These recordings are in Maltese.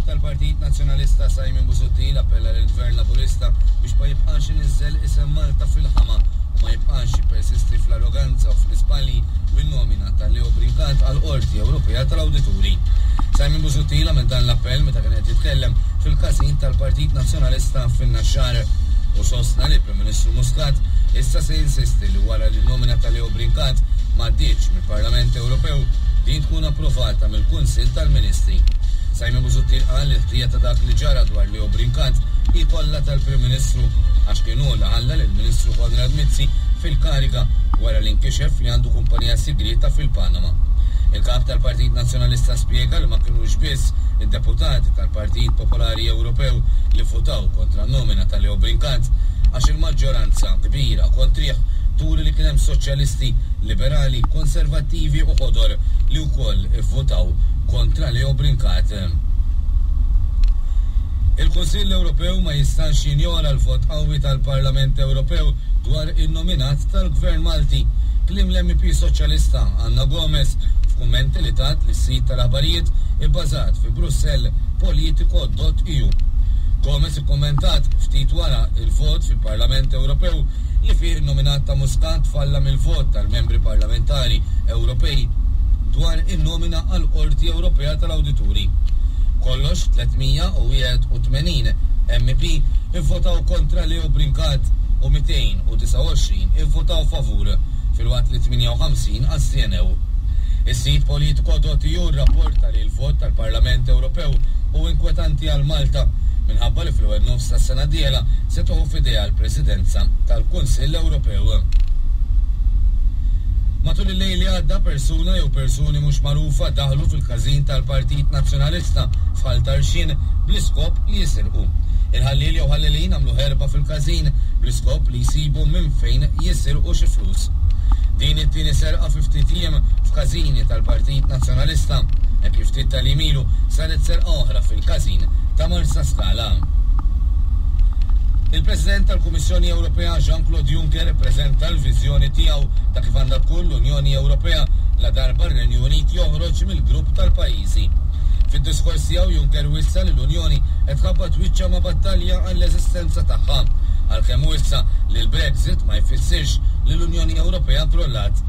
tal-Partit Nazzjonalista Simon Busuttil appella lill-Gvern Laburista biex ma jibqax iniżżel isem Malta fil-ħama u ma jibqax jippersisti fl-arroganza u fl-iżbalji bin-nomina ta' Leo Brincat għall-Qorti Ewropea tal-Awdituri. Simon Busuttil għamel dan l-appell meta kien qed jitkellem fil-każin tal-Partit Nazzjonalista fin-Naxxar u sostna li l-Prim Ministru Muscat issa se jinsisti li wara li n-nomina ta' Leo Brincat m'għaddietx mill-Parlament Ewropew din tkun approvata mill-Kunsill tal-Ministri. Simon Busuttil qal li l-ħtija ta' dak li ġara dwar Leo Brincat hi kollha tal-Prim Ministru għax kien hu li ħalla lill-Ministru Konrad Mizzi fil-kariga wara li nkixef li għandu kumpanija sigrieta fil-Panama. Il-Kap tal-Partit Nazzjonalista spjega li ma kinux biss id-deputati tal-Partit Popolari Ewropew li vvutaw kontra n-nomina ta' Leo Brincat għax il-maġġoranza kbira kontrih turi li kien hemm soċjalisti, liberali, konservattivi u ħodor li wkoll ivvutaw kontra Leo Brincat. Il-Kunsill Ewropew ma jistax jinjora l-vot qawwi tal-Parlament Ewropew dwar in-nominat tal-Gvern Malti, kliem l-MEP Soċjalista Anna Gomes f'kummenti li tat lis-sit tal-aħbarijiet ibbażat fi Brussell Politico dot eu. Gomes ikkummentat ftit wara l-vot fil-Parlament Ewropew li fih in-nominat ta' Muscat falla mill-vot tal-membri parlamentari Ewropej dwar in-nomina għall-Qorti Ewropea tal-Awdituri. B'kollox 381 MEP ivvotaw kontra Leo Brincat u 229 ivvotaw favur, filwaqt li 58 astjenew. Is-sit Politico.eu rrapporta li l-vot tal-Parlament Ewropew hu inkwetanti għal Malta minħabba li fl-ewwel nofs tas-sena d-dieħla se tieħu f'idejha l-Presidenza tal-Kunsill Ewropew. Matul il-lejl li għadda persuna jew persuni mhux magħrufa daħlu fil-każin tal-Partit Nazzjonalista f'Ħal Tarxien bl-iskop li jisirqu. Il-ħalliel jew ħallelin għamlu ħerba fil-każin bl-iskop li jsibu minn fejn jisirqu xi flus. Din hi t-tieni serqa fi ftit jiem f'każini tal-Partit Nazzjonalista, hekk kif ftit tal-jiem ilu saret serqa oħra fil-każin ta' Marsaskala. Il-President tal-Kummissjoni Ewropea Jean-Claude Juncker ippreżenta l-viżjoni tiegħu ta' kif għandha tkun l-Unjoni Ewropea ladarba r-Renju Unit joħroġ mill-grupp tal-pajjiżi. Fid-diskors tiegħu Juncker wissa li l-Unjoni qed tħabbat wiċċha ma' battalja għall-eżistenza tagħha, għalkemm wissa li l-Brexit ma jfissirx li l-Unjoni Ewropea krollat.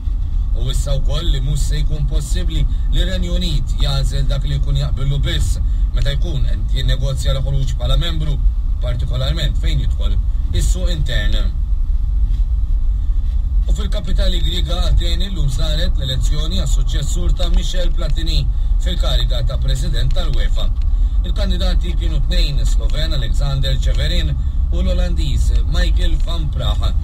Hu wissa wkoll li mhux se jkun possibbli li r-Renju Unit jagħżel dak li jkun jaqbillu biss meta jkun qed jinnegozja l-ħruġ bħala membru, partikolarment fejn jidħol is-suq intern. U fil-kapitali Griega Ateni llum saret l-elezzjoni għas-suċċessur ta' Michel Platini fil-kariga ta' President tal-UEFA. Il-kandidati kienu tnejn, is-Sloven Aleksander Ceferin u l-Olandiż Michael van Praag.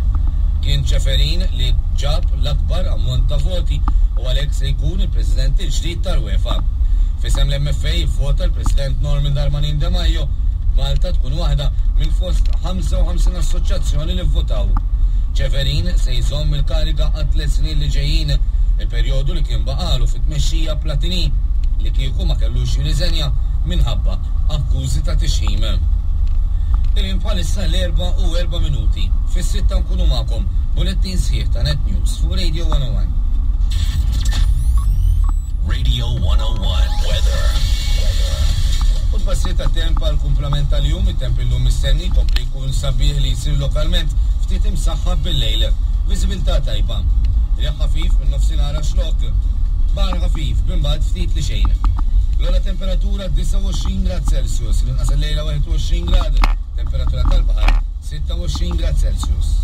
Kien Ceferin li ġab l-akbar ammont ta' voti u għalhekk se jkun il-President il-ġdid tal-UEFA. F'isem l-MFA ivvota l-President Norman Darmanin Demajo, b'Malta tkun waħda minn fost 55 assoċjazzjoni li vvutaw. Ceferin se jżomm il-kariga għat-tliet snin li ġejjin, il-perjodu li kien baqagħlu fit-tmexxija Platini li kieku ma kellux jirriżenja minħabba akkużi ta' tixħim. Il-ħin bħalissa l-erbgħa u erba' minuti. Fis-sitta nkunu magħkom b'bulettin sħiħ ta' Net News fuq Radio 101. Radio 101 Weather. U tbassir tat-temp għall-kumplament tal-jum, it-temp illum mistenni jkompli jkun sabiħ li jsir lokalment ftit imsaħħab bil-lejl. Viżibilità tajba. Riħ ħafif minn nofsinhar għax-Xlokk. Baħar ħafif b'imbagħad ftit li xejn. L-ogħla temperatura 29 grad Celsius, l-inqas illejla 21 grad, temperatura tal-baħar 26 grad Celsius.